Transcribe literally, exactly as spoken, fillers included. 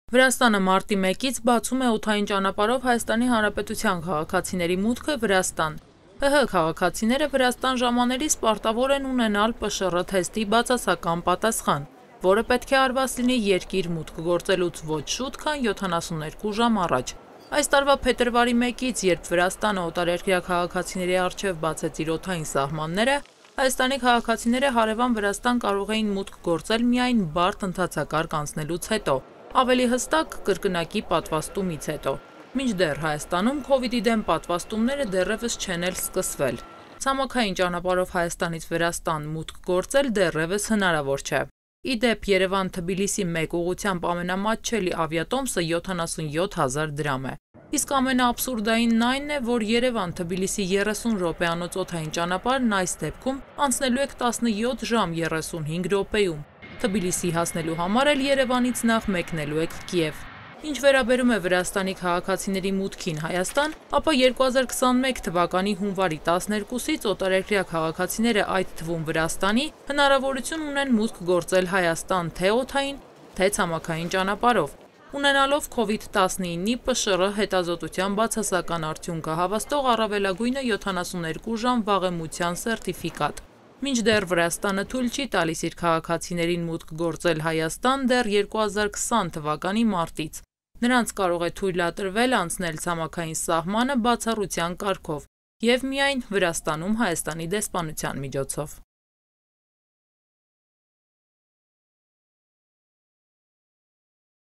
Վրաստանը մարտի մեկից բացում է օդային ճանապարհով Հայաստանի Հանրապետության քաղաքացիների մուտքը Վրաստան։ ՀՀ քաղաքացիները Վրաստան ժամանելիս պարտավոր են ունենալ Պ Շ Ռ թեստի բացասական պատասխան, որը պետք է արված լինի երկիր մուտք գործելուց ոչ շուտ, քան յոթանասուններկու ժամ առաջ։ Այս տարվա փետրվարի մեկից, երբ Վրաստանը օտարերկրյա քաղաքացիների առջև բացեց իր օդային սահմանները, Հայաստանի քաղաքացիները հարևան Վրաստան կարող էին մուտք գործել միայն բարդ ընթացակարգ անցնելուց հետո, ավելի հստակ կրկնակի պատվաստումից հետո։ Մինչդեռ Հայաստանում քովիդի դեմ պատվաստումները դեռևս չեն էլ սկսվել։ Ցամաքային ճանապարհով Հայաստանից Վրաստան մուտք գործել դեռևս հնարավոր չէ։ Ի դեպ, Երևան-Թբիլիսի մեկ ուղղությամբ ամենամատչելի ավիատոմսը յոթանասունյոթ հազար դրամ է։ Իսկ ամենաաբսուրդայինն այն է, որ Երևան-Թբիլիսի երեսուն րոպեանոց օդային ճանապարհն այս դեպքում անցնելու եք տասնյոթ ժամ երեսունհինգ րոպեում։ Թբիլիսի հասնելու համար էլ Երևանից նախ մեկնելու եք Կիև։ Ինչ վերաբերում է Վրաստանի քաղաքացիների մուտքին Հայաստան, ապա երկու հազար քսանմեկ թվականի հունվարի տասներկուսից օտարերկրյա քաղաքացիները, այդ թվում Վրաստանի, հնարավորություն ունեն մուտք գործել Հայաստան թե օդային, թե ցամաքային ճանապարհով, ունենալով քովիդ տասնինի Պ Շ Ռ հետազոտության բացասական արդյունքը հավաստող առավելագույնը յոթանասուններկու ժամ վաղեմության սերտիֆիկատ։ Մինչդեռ Վրաստանը թույլ չի տալիս իր քաղաքացիներին մուտք գործել Հայաստան դեռ երկու հազար քսան թվականի մարտից։ Նրանց կարող է թույլատրվել անցնել ցամաքային սահմանը բացառության կարգով և միայն Վրաստանում Հայաստանի դեսպանության միջոցով։